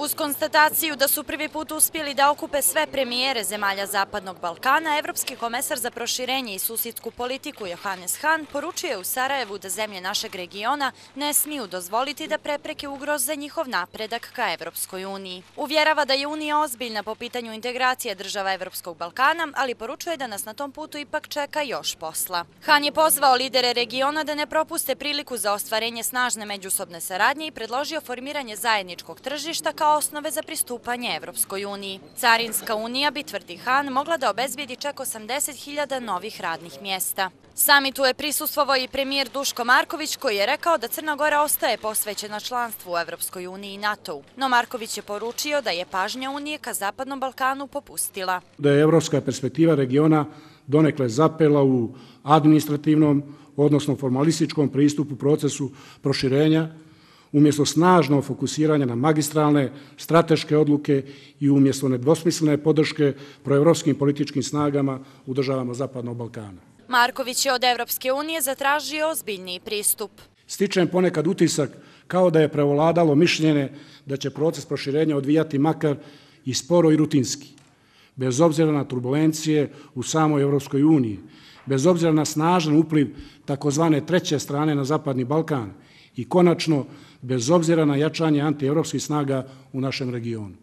Uz konstataciju da su prvi put uspjeli da okupe sve premijere zemalja Zapadnog Balkana, Evropski komesar za proširenje i susjedsku politiku Johannes Hahn poručuje u Sarajevu da zemlje našeg regiona ne smiju dozvoliti da prepreke ugroze njihov napredak ka Evropskoj uniji. Uvjerava da je Unija ozbiljna po pitanju integracije država Evropskog Balkana, ali poručuje da nas na tom putu ipak čeka još posla. Hahn je pozvao lidere regiona da ne propuste priliku za ostvarenje snažne međusobne saradnje i predložio formiranje zajedničkog tržišta kao osnove za pristupanje Evropskoj uniji. Carinska unija bi, tvrdi Hahn, mogla da obezbijedi čak 80.000 novih radnih mjesta. Samitu je prisustvovao i premijer Duško Marković, koji je rekao da Crna Gora ostaje posvećena članstvu u Evropskoj uniji i NATO-u. No Marković je poručio da je pažnja Unije ka Zapadnom Balkanu popustila. Da je evropska perspektiva regiona donekle zapela u administrativnom, odnosno formalističkom pristupu procesu proširenja, umjesto snažnog fokusiranja na magistralne, strateške odluke i umjesto nedvosmislene podrške proevropskim političkim snagama u državama Zapadnog Balkana. Marković je od Evropske unije zatražio ozbiljniji pristup. Stičem ponekad utisak kao da je prevladalo mišljenje da će proces proširenja odvijati makar i sporo i rutinski, bez obzira na turbulencije u samoj Evropskoj uniji, bez obzira na snažan upliv takozvane treće strane na Zapadni Balkan i konačno bez obzira na jačanje antievropskih snaga u našem regionu.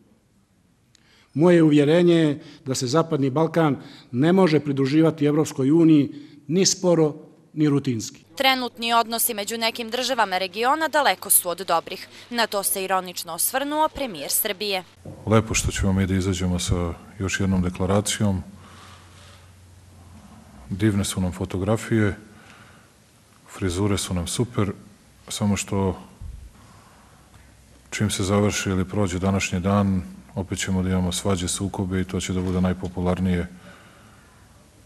Moje uvjerenje je da se Zapadni Balkan ne može pridruživati Evropskoj uniji ni sporo ni rutinski. Trenutni odnosi među nekim državama regiona daleko su od dobrih. Na to se ironično osvrnuo premijer Srbije. Lepo što ćemo mi da izađemo sa još jednom deklaracijom. Divne su nam fotografije, frizure su nam super, samo što čim se završi ili prođe današnji dan, opet ćemo da imamo svađe, sukobe i to će da bude najpopularnije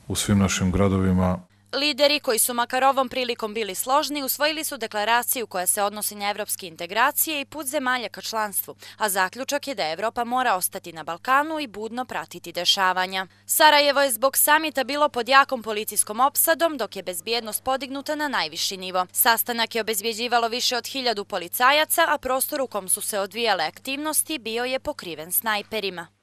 u svim našim gradovima. Lideri koji su makar ovom prilikom bili složni usvojili su deklaraciju koja se odnosi na evropske integracije i put zemalja ka članstvu, a zaključak je da Evropa mora ostati na Balkanu i budno pratiti dešavanja. Sarajevo je zbog samita bilo pod jakom policijskom opsadom, dok je bezbjednost podignuta na najviši nivo. Sastanak je obezbjeđivalo više od 1000 policajaca, a prostor u kom su se odvijale aktivnosti bio je pokriven snajperima.